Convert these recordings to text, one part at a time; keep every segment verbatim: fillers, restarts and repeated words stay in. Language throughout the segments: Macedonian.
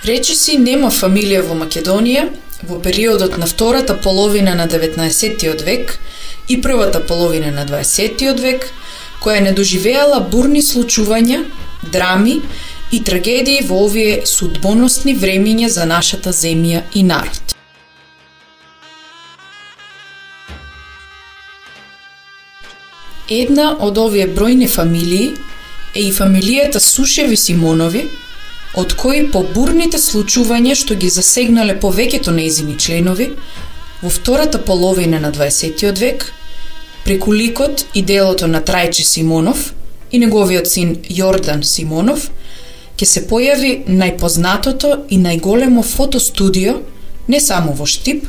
Речиси нема фамилија во Македонија во периодот на втората половина на деветнаесеттиот век и првата половина на дваесеттиот век, која не доживеала бурни случувања, драми и трагедии во овие судбоносни времиња за нашата земја и народ. Една од овие бројни фамилии е и фамилијата Сушеви-Симонови, од кои по бурните случувања што ги засегнале повеќето нејзини членови во втората половина на дваесеттиот век, преку ликот и делото на Трајче Симонов и неговиот син Јордан Симонов, ќе се појави најпознатото и најголемо фотостудио не само во Штип,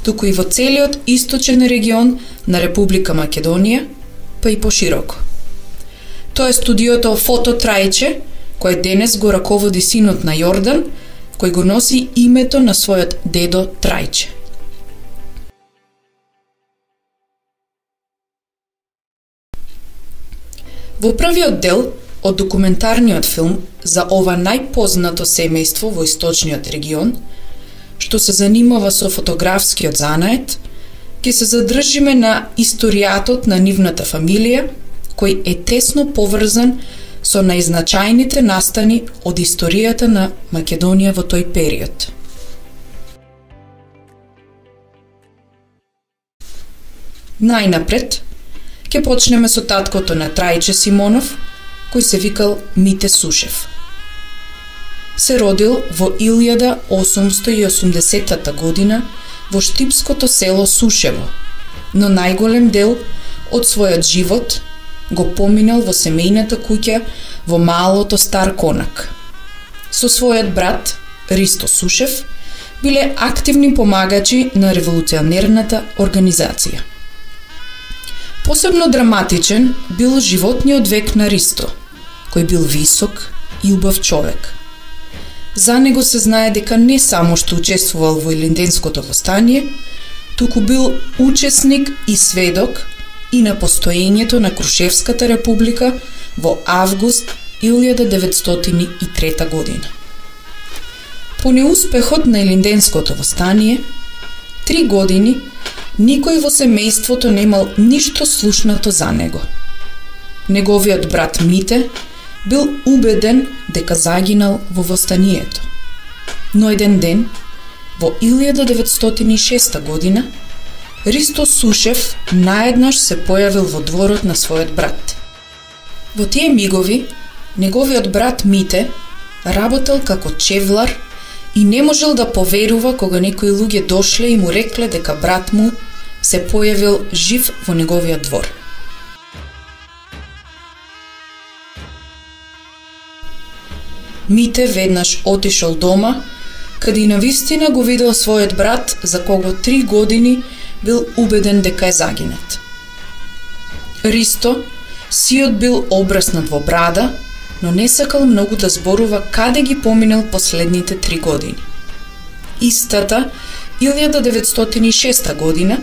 туку и во целиот источен регион на Република Македонија, па и пошироко. Тоа е студиото Фото Трајче, кој денес го раководи синот на Јордан, кој го носи името на својот дедо Трајче. Во првиот дел од документарниот филм за ова најпознато семејство во источниот регион, што се занимава со фотографскиот занает, ќе се задржиме на историјатот на нивната фамилија, кој е тесно поврзан со најзначајните настани од историјата на Македонија во тој период. Најнапред, ќе почнеме со таткото на Трајче Симонов, кој се викал Мите Сушев. Се родил во илјада осумсто и осумдесетта година во штипското село Сушево, но најголем дел од својот живот го поминал во семејната куќа во малото Стар Конак. Со својот брат, Ристо Сушев, биле активни помагачи на револуционерната организација. Посебно драматичен бил животниот век на Ристо, кој бил висок и убав човек. За него се знае дека не само што учествувал во Илинденското востание, туку бил учесник и сведок и на постоењето на Крушевската република во август илјада деветстотини и трета година. По неуспехот на Илинденското востание, три години никој во семејството немал ништо слушнато за него. Неговиот брат Мите бил убеден дека загинал во востанието. Но еден ден, во илјада деветстотини и шеста година, Ристо Сушев наеднаш се појавил во дворот на својот брат. Во тие мигови, неговиот брат Мите работел како чевлар и не можел да поверува кога некои луѓе дошле и му рекле дека брат му се појавил жив во неговиот двор. Мите веднаш отишол дома, каде навистина го видел својот брат за кого три години бил убеден дека е загинат. Ристо, сиот бил обраснат во брада, но не сакал многу да зборува каде ги поминал последните три години. Истата, илјада деветстотини и шеста година,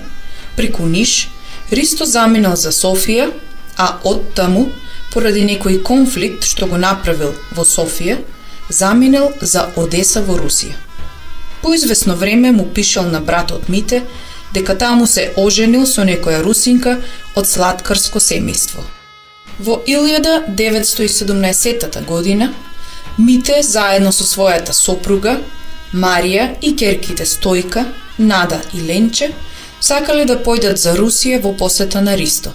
преку Ниш, Ристо заминал за Софија, а оттаму, поради некој конфликт што го направил во Софија, заминал за Одеса во Русија. По извесно време му пишал на братот Мите дека таму се оженил со некоја русинка од сладкарско семејство. Во илјада деветсто и седумнаесетта година, Мите заедно со својата сопруга, Марија и ќерките Стојка, Нада и Ленче, сакале да појдат за Русија во посета на Ристо.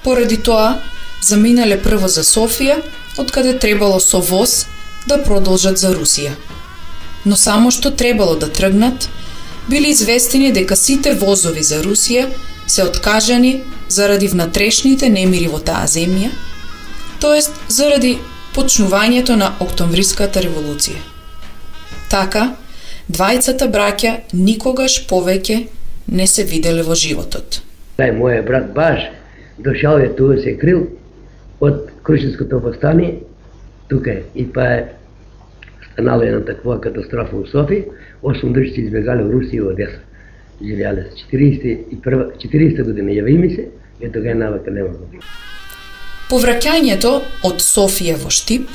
Поради тоа, заминале прво за Софија, откаде требало со воз да продолжат за Русија. Но само што требало да тргнат, били известени дека сите возови за Русија се откажани заради внатрешните немири во таа земја, тоест заради почнувањето на Октомвриската револуција. Така, двајцата браќа никогаш повеќе не се виделе во животот. Тај мојот брат баш дошал е тука, се крил од Крушевското востание, тука е, и па е станала една таква катастрофа во Софија, осум души избегали во Русија и Одеса. Живеале се четириесета година, јави ми се, и тога е навака нема го. Повраќањето од Софија во Штип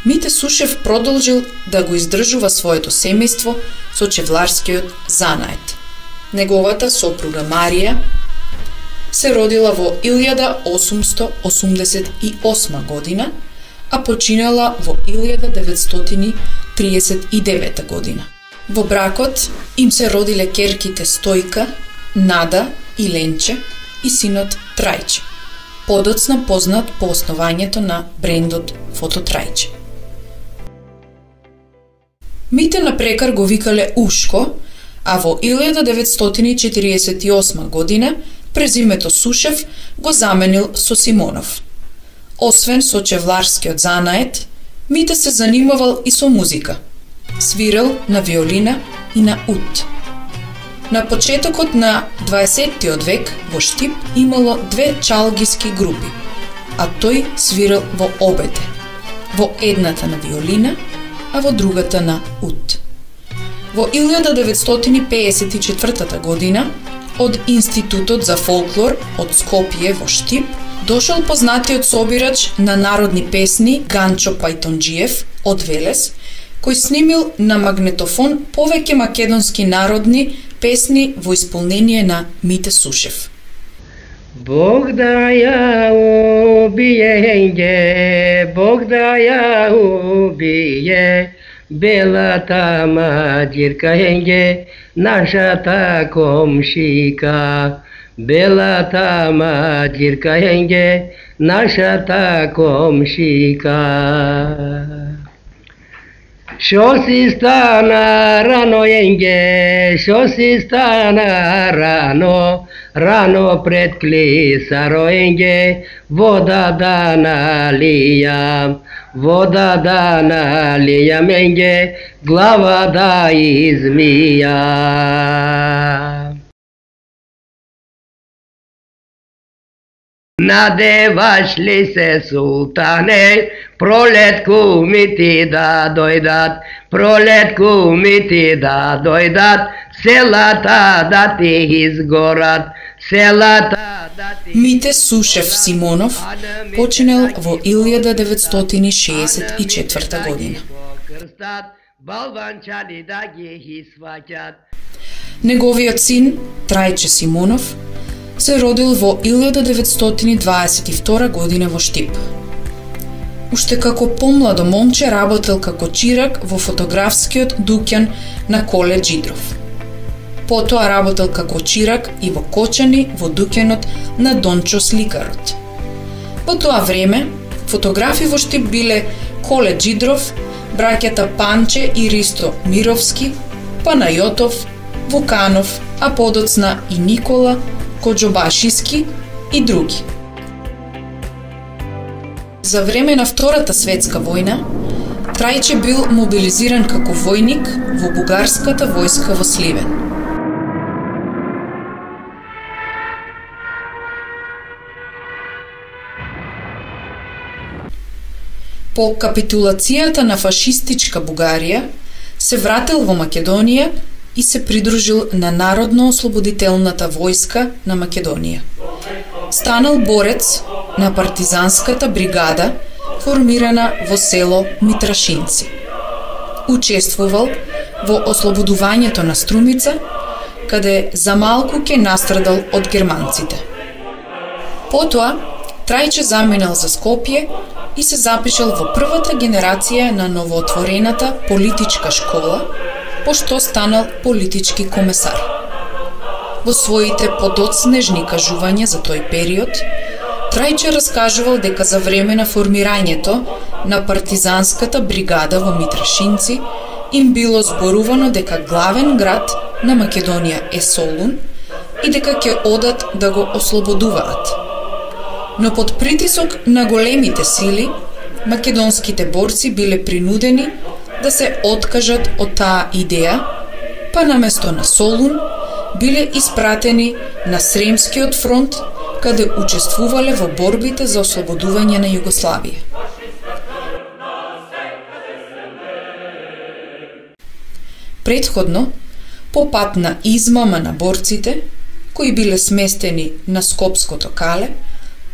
Мите Сушев продолжил да го издржува своето семејство со чевларскиот занает. Неговата сопруга Марија се родила во илјада осумсто осумдесет и осма година, а починала во илјада деветстотини триесет и девета година. Во бракот им се родиле ќерките Стојка, Нада и Ленче и синот Трајче, подоцна познат по основањето на брендот Фототрајче. Мите на прекар го викале Ушко, а во илјада деветстотини четириесет и осма година презимето Сушев го заменил со Симонов. Освен со чевларскиот занает, Мите се занимавал и со музика. Свирел на виолина и на ут. На почетокот на дваесеттиот век во Штип имало две чалгиски групи, а тој свирел во обете. Во едната на виолина, а во другата на ут. Во илјада деветстотини пеесет и четвртата година од Институтот за фолклор од Скопје во Штип дошол познатиот собирач на народни песни Ганчо Пајтонџиев од Велес, кој снимил на магнетофон повеќе македонски народни песни во исполнение на Мите Сушев. Бог да ја убие, Бог да ја убие, белата маđирка енге, нашата комшика. Белата маđирка енге, нашата комшика. Шо си стана рано енге, шо си стана рано, рано пред клисаро енге, вода да налијам, вода да налијам енге, глава да измијам. Надеваш ли се, султане, пролет кумити да дојдат, пролет кумити да дојдат, селата да ти изгорат, селата да ти... Мите Сушев Симонов починал во илјада деветстотини шеесет и четврта година. Неговиот син, Трајче Симонов, се родил во илјада деветстотини дваесет и втора година во Штип. Уште како помладо момче работел како чирак во фотографскиот дуќан на Коле Џидров. Потоа работел како чирак и во Кочани во дуќанот на Дончо Сликарот. Во тоа време, фотографи во Штип биле Коле Џидров, браќата Панче и Ристо Мировски, Панајотов, Вуканов, а подоцна и Никола Коџобашиски и други. За време на Втората светска војна, Трајче бил мобилизиран како војник во бугарската војска во Сливен. По капитулацијата на фашистичка Бугарија, се вратил во Македонија и се придружил на Народно-ослободителната војска на Македонија. Станал борец на партизанската бригада, формирана во село Митрашинци. Учествувал во ослободувањето на Струмица, каде за малку ке настрадал од германците. Потоа, Трајче заминал за Скопје и се запишал во првата генерација на новоотворената политичка школа, пошто станал политички комесар. Во своите подоцнежни кажувања за тој период, Трајче раскажувал дека за време на формирањето на партизанската бригада во Митрашинци им било зборувано дека главен град на Македонија е Солун и дека ќе одат да го ослободуваат. Но под притисок на големите сили, македонските борци биле принудени да се откажат од таа идеја, па наместо на Солун биле испратени на Сремскиот фронт, каде учествувале во борбите за ослободување на Југославија. Претходно, по пат на измама на борците, кои биле сместени на Скопското кале,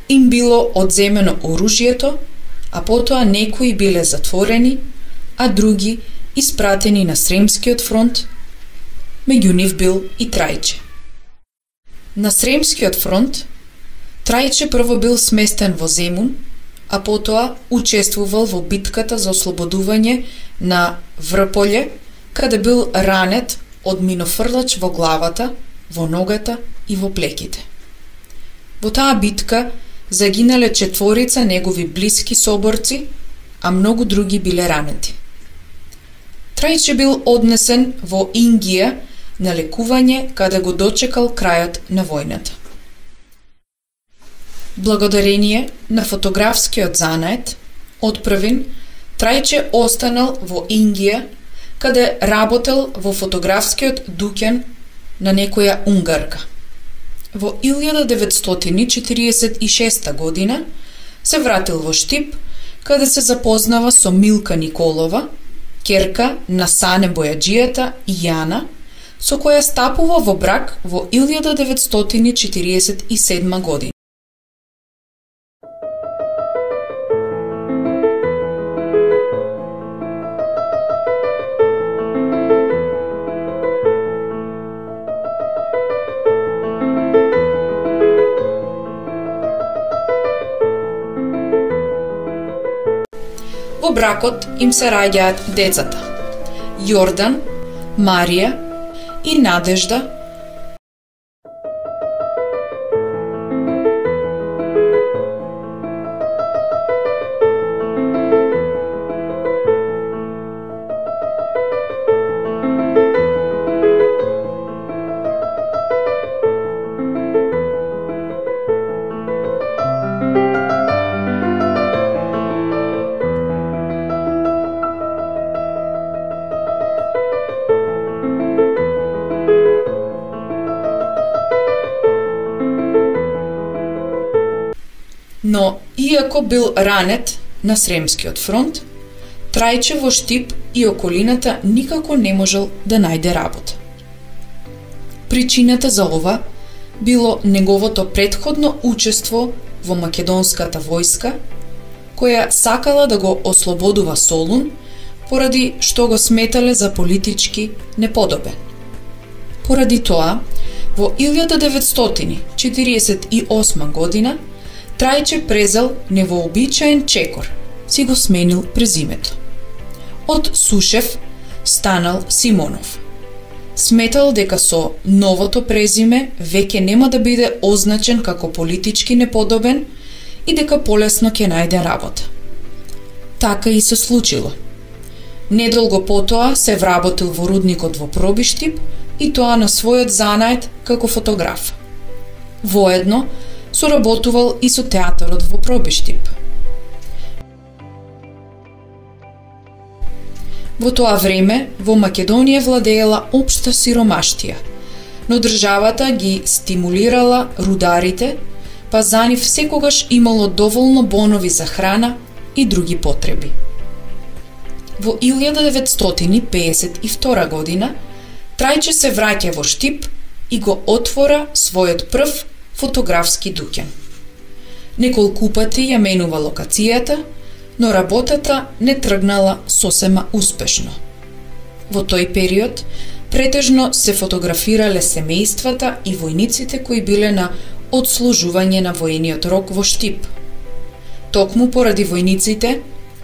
им било одземено оружјето, а потоа некои биле затворени, а други испратени на Сремскиот фронт, меѓу нив бил и Трајче. На Сремскиот фронт Трајче прво бил сместен во Земун, а потоа учествувал во битката за ослободување на Врполје, каде бил ранет од минофрлач во главата, во ногата и во плеките. Во таа битка загинале четворица негови блиски соборци, а многу други биле ранети. Трајче бил однесен во Ингија на лекување, каде го дочекал крајот на војната. Благодарение на фотографскиот занает, одпрвен, Трајче останал во Ингија, каде работел во фотографскиот дуќан на некоја унгарка. Во илјада деветстотини четиридесет и шеста година се вратил во Штип, каде се запознава со Милка Николова, ќерка на Сане Бојаджијата и Јана, со која стапува во брак во илјада деветстотини четиридесет и седма година. Во бракот им се раѓаат децата Јордан, Марија и Надежда, но иако бил ранет на Сремскиот фронт, Трајче во Штип и околината никако не можел да најде работа. Причината за ова било неговото претходно учество во македонската војска, која сакала да го ослободува Солун, поради што го сметале за политички неподобен. Поради тоа, во илјада деветстотини четиридесет и осма година Трајче презел невообичаен чекор, си го сменил презимето. Од Сушев станал Симонов. Сметал дека со новото презиме веќе нема да биде означен како политички неподобен и дека полесно ќе најде работа. Така и се случило. Недолго потоа се вработил во рудникот во Пробиштип и тоа на својот занает како фотограф. Воедно соработувал и со театарот во Пробиштип. Во тоа време во Македонија владеела општа сиромаштија, но државата ги стимулирала рударите, па за нив секогаш имало доволно бонови за храна и други потреби. Во илјада деветстотини пеесет и втора година Трајче се враќа во Штип и го отвора својот прв фотографски дуќан. Неколку пати ја менува локацијата, но работата не тргнала сосема успешно. Во тој период претежно се фотографирале семејствата и војниците кои биле на одслужување на воениот рок во Штип. Токму поради војниците,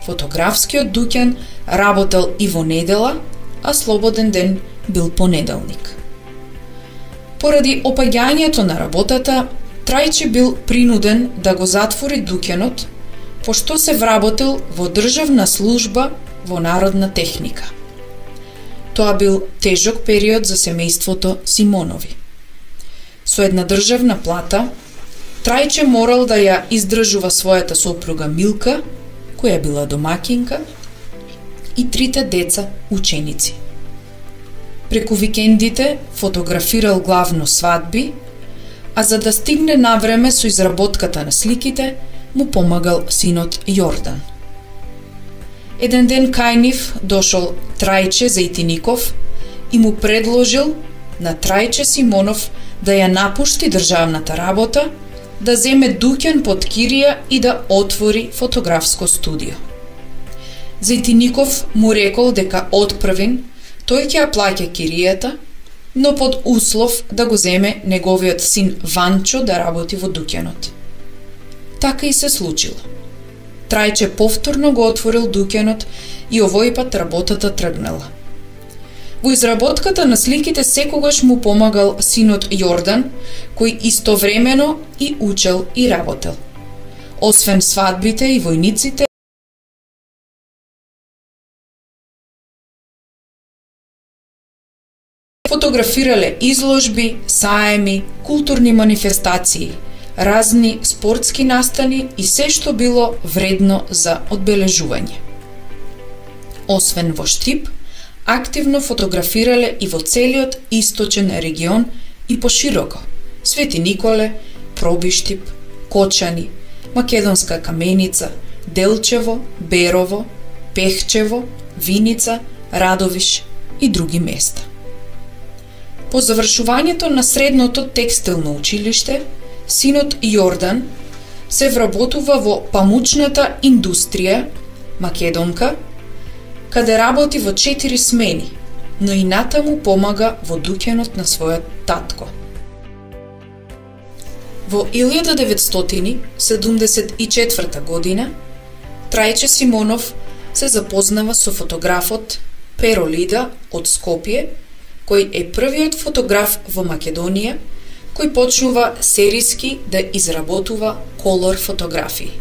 фотографскиот дуќан работел и во недела, а слободен ден бил понеделник. Поради опаѓањето на работата, Трајче бил принуден да го затвори дуќанот, пошто се вработил во државна служба во народна техника. Тоа бил тежок период за семејството Симонови. Со една државна плата, Трајче морал да ја издржува својата сопруга Милка, која била домакинка, и трите деца ученици. Преку викендите фотографирал главно свадби, а за да стигне навреме со изработката на сликите, му помагал синот Јордан. Еден ден кај нив дошол Трајче Зејтиников и му предложил на Трајче Симонов да ја напушти државната работа да земе дуќан под кирија и да отвори фотографско студио. Зејтиников му рекол дека отпрвин тој ќе ја плаќа киријата, но под услов да го земе неговиот син Ванчо да работи во дуќанот. Така и се случило. Трајче повторно го отворил дуќанот и овој пат работата тргнала. Во изработката на сликите секогаш му помагал синот Јордан, кој истовремено и учел и работел. Освен свадбите и војниците, фотографирале изложби, саеми, културни манифестации, разни спортски настани и се што било вредно за одбележување. Освен во Штип, активно фотографирале и во целиот источен регион и пошироко: Свети Николе, Пробиштип, Кочани, Македонска Каменица, Делчево, Берово, Пехчево, Виница, Радовиш и други места. По завршувањето на средното текстилно училиште, синот Јордан се вработува во памучната индустрија Македонка, каде работи во четири смени, но и натаму помага во дуќанот на својот татко. Во илјада деветстотини седумдесет и четврта година Трајче Симонов се запознава со фотографот Перо Лида од Скопје, кој е првиот фотограф во Македонија кој почнува сериски да изработува колор фотографии.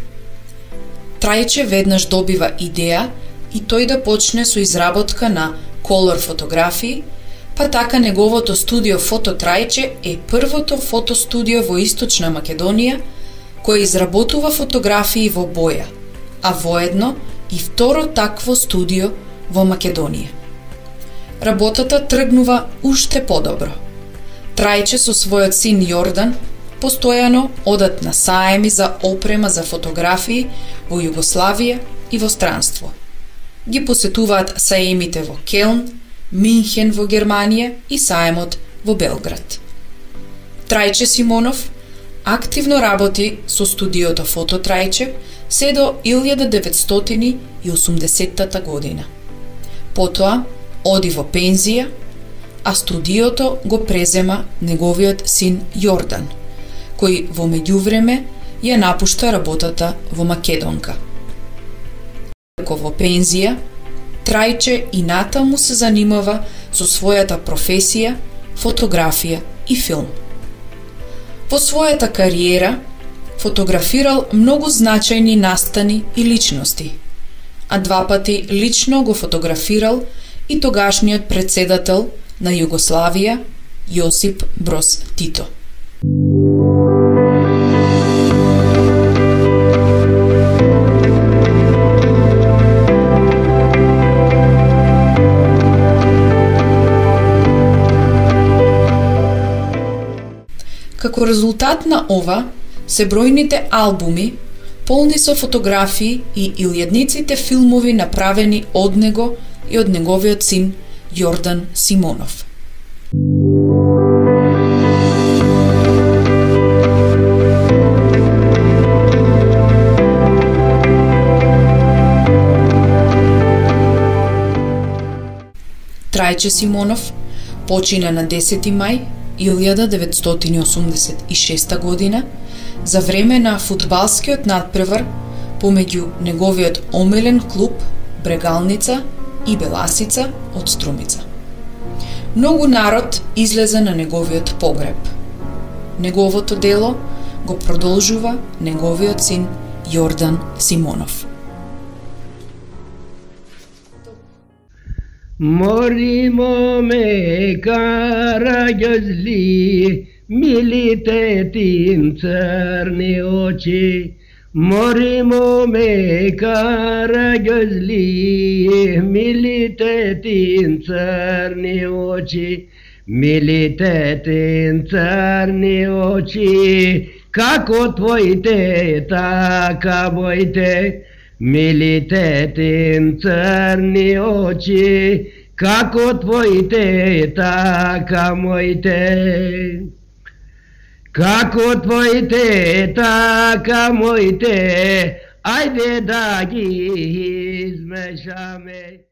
Трајче веднаш добива идеја и тој да почне со изработка на колор фотографии, па така неговото студио Фото Трајче е првото фотостудио во Источна Македонија кој изработува фотографии во боја, а воедно и второ такво студио во Македонија. Работата тргнува уште подобро. Трајче со својот син Јордан постојано одат на саеми за опрема за фотографии во Југославија и во странство. Ги посетуваат саемите во Келн, Минхен во Германија и саемот во Белград. Трајче Симонов активно работи со студиото Фото Трајче се до илјада деветстотини и осумдесеттата година. Потоа оди во пензија, а студиото го презема неговиот син Јордан, кој во меѓувреме ја напушта работата во Македонка. Иако во пензија, Трајче и натаму се занимава со својата професија, фотографија и филм. Во својата кариера фотографирал многу значајни настани и личности, а два пати лично го фотографирал и тогашниот председател на Југославија Јосип Броз Тито. Како резултат на ова се бројните албуми полни со фотографии и илјадниците филмови направени од него и од неговиот син Јордан Симонов. Трајче Симонов почина на десети мај илјада деветстотини осумдесет и шеста година за време на фудбалскиот надпревар помеѓу неговиот омилен клуб Брегалница и Беласица од Струмица. Многу народ излезе на неговиот погреб. Неговото дело го продолжува неговиот син Јордан Симонов. Мори моме караѓозли, милите тим црни очи. Мори моме караѓозли, милите тим црни очи. Милите тим црни очи, како твоите, така моите. Милите тим црни очи, како твоите, така моите. Како твоите, така моите, ајде да ги измешаме.